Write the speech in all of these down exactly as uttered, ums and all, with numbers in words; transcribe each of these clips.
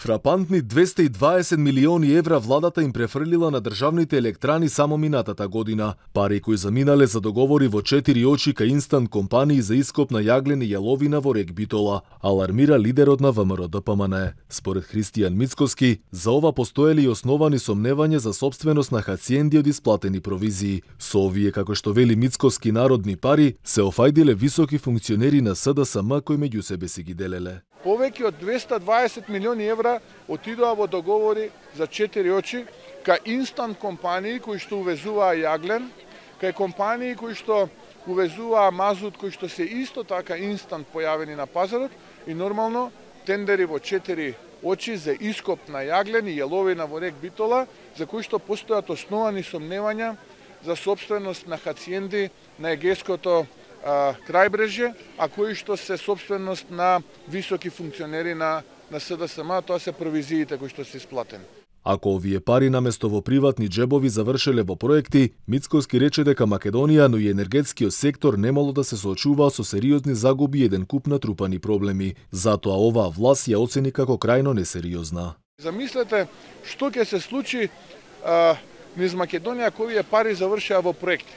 Фрапантни двесте и дваесет милиони евра владата им префрлила на државните електрани само минатата година. Пари кои заминале за договори во четири очи кај инстант компании за ископ на јаглен и јаловина во рек Битола, алармира лидерот на ВМРО-ДПМН. Според Христијан Мицкоски, за ова постоеле и основани сомневања за сопственост на хациенди од исплатени провизии. Со овие, како што вели Мицкоски, народни пари, се офајдиле високи функционери на СДСМ кои меѓу себе си ги делеле. Повеќе од двесте и дваесет милиони евра отидоа во договори за четири очи кај инстант компании кои што увезуваа јаглен, кај компании кои што увезуваа мазут кои што се исто така инстант појавени на пазарот и нормално тендери во четири очи за ископ на јаглен и јаловина во рек Битола, за кои што постојат основани сомневања за сопственост на хациенди на егеското крајбрежје, а кои што се сопственост на високи функционери на, на СДСМ, тоа се провизиите кои што се исплатени. Ако овие пари наместо во приватни џебови завршеле во проекти, Мицкоски рече дека Македонија, но и енергетскиот сектор немало да се соочуваат со сериозни загуби и еден куп натрупани проблеми. Затоа оваа власт ја оцени како крајно несериозна. Замислете што ќе се случи а, низ Македонија кога овие пари завршеа во проекти.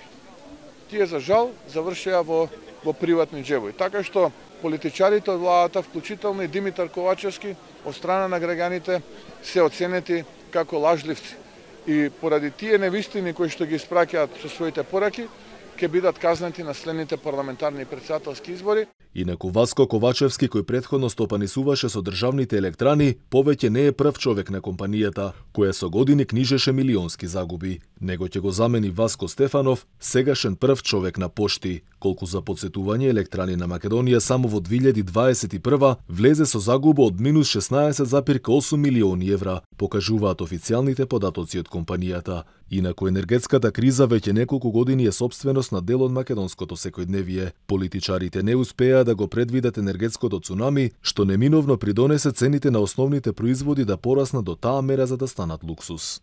Тие за жал завршеа во, во приватни џебови. Така што политичарите од владата, вклучително и Димитар Ковачевски, од страна на граѓаните се оценети како лажливци. И поради тие невистини кои што ги испраќаат со своите пораки, ќе бидат казнати на следните парламентарни и претседателски избори. Инаку Васко Ковачевски, кој претходно стопанисуваше со државните електрани, повеќе не е прв човек на компанијата, која со години книжеше милионски загуби. Него ќе го замени Васко Стефанов, сегашен прв човек на Пошти. Колку за подсетување, електрани на Македонија само во две илјади дваесет и прва влезе со загуба од минус шеснаесет запир осум милиони евра, покажуваат официјалните податоци од компанијата. Инаку енергетската криза веќе неколку години е сопственост на дел од македонското секојдневие. Политичарите не успеа да го предвидат енергетското цунами, што неминовно придонесе цените на основните производи да пораснат до таа мера за да станат луксус.